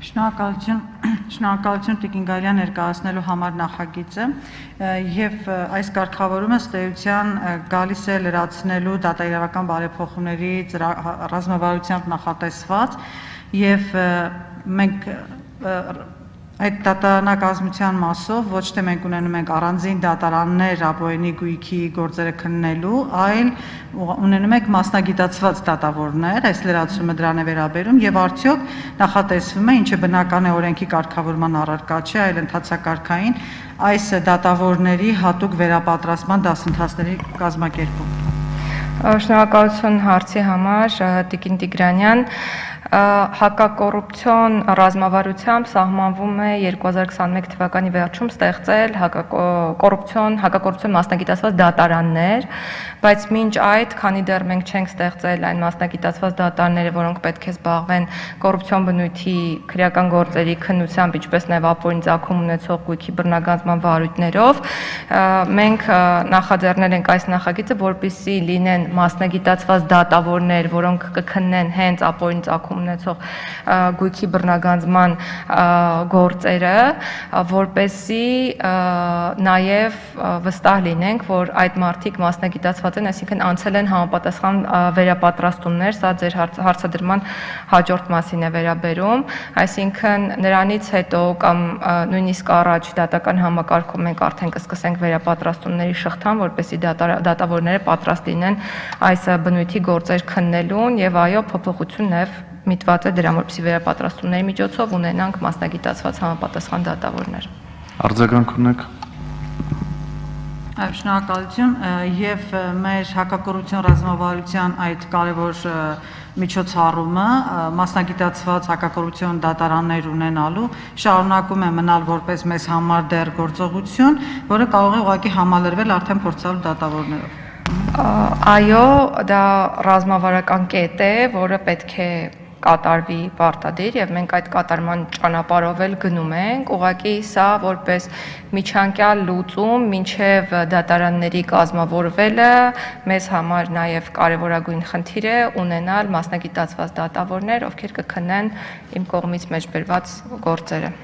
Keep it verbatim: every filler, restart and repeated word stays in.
Շնորհակալություն, շնորհակալություն Տիկին Գալյան ներկայացնելու համար նախագիծը եւ այս կարգավորումը ըստ էության գալիս է լրացնելու դատաիրավական բարեփոխումների ռազմավարությամբ նախատեսված եւ մենք այդ դատարանակազմության մասով ոչ թե մենք ունենում ենք առանձին դատարաններ ապօրինի գույքի գործերը քննելու, այլ ունենում ենք մասնագիտացված դատավորներ, այս լրացումը դրան է վերաբերում եւ արդյոք նախատեսվում է, ինչը բնական է օրենքի կարգավորման առարկա չէ, այլ ընթացակարգային այս դատավորների հատուկ վերապատրաստման դասընթացների կազմակերպում։ Շնորհակալություն հարցի համար, Տիկին Տիգրանյան։ Հակակոռուպցիոն ռազմավարությամբ սահմանվում է երկու հազար քսաներկու թվականի վերջում ստեղծել կոռուպցիոն հակակոռուպցիոն մասնագիտացված դատարաններ, բայց մինչ այդ, քանի դեռ մենք չենք ստեղծել այն մասնագիտացված դատարանները, որոնք պետք է զբաղվեն կոռուպցիոն բնույթի քրեական գործերի քննությամբ, ինչպես նաև ապօրինի ծագում ունեցող գույքի բռնագանձման վարույթներով, մենք նախաձեռնել ենք այս նախագիծը, որպեսզի լինեն մասնագիտացված դատավորներ, որոնք կքննեն հենց ապօրինի ծագում ունեցող գույքի բռնագանձման գործերը, որպեսզի նաև վստահ լինենք, որ այդ մարդիկ մասնագիտացված են, այսինքն անցել են համապատասխան վերապատրաստումներ, սա ձեր հարցադրման հաջորդ մասին է վերաբերում, այսինքն նրանից հետո կամ նույնիսկ առաջ դատական համակարգում մենք արդեն կսկսենք վերապատրաստումների շղթան, որպեսզի դատավորները պատրաստ լինեն այս բնույթի գործեր քննելուն եւ այո, փոփոխություն նաև միտված է դրան, որպեսզի վերապատրաստումների միջոցով ունենանք մասնագիտացված համապատասխան դատավորներ։ Արձագանք ունեք։ Շնորհակալություն եւ մեր հակակոռուպցիոն ռազմավարության այդ կարևոր միջոցառումը մասնագիտացված հակակոռուպցիոն դատարաններ ունենալու շարունակում է մնալ որպես մեզ համար դեռ գործողություն, որը կարող է ուղղակի համալրվել արդեն փորձալու դատավորներով։ Այո, դա ռազմավարական կետ է, որը պետք է կատարվի պարտադիր եւ մենք այդ կատարման ճանապարհով էլ գնում ենք, ուղղակի սա որպես միջանկյալ լուծում մինչեւ դատարանների կազմավորվելը մեզ համար նաեւ կարեւորագույն խնդիր է ունենալ մասնագիտացված դատավորներ, ովքեր կքննեն իմ կողմից մեջբերված գործերը։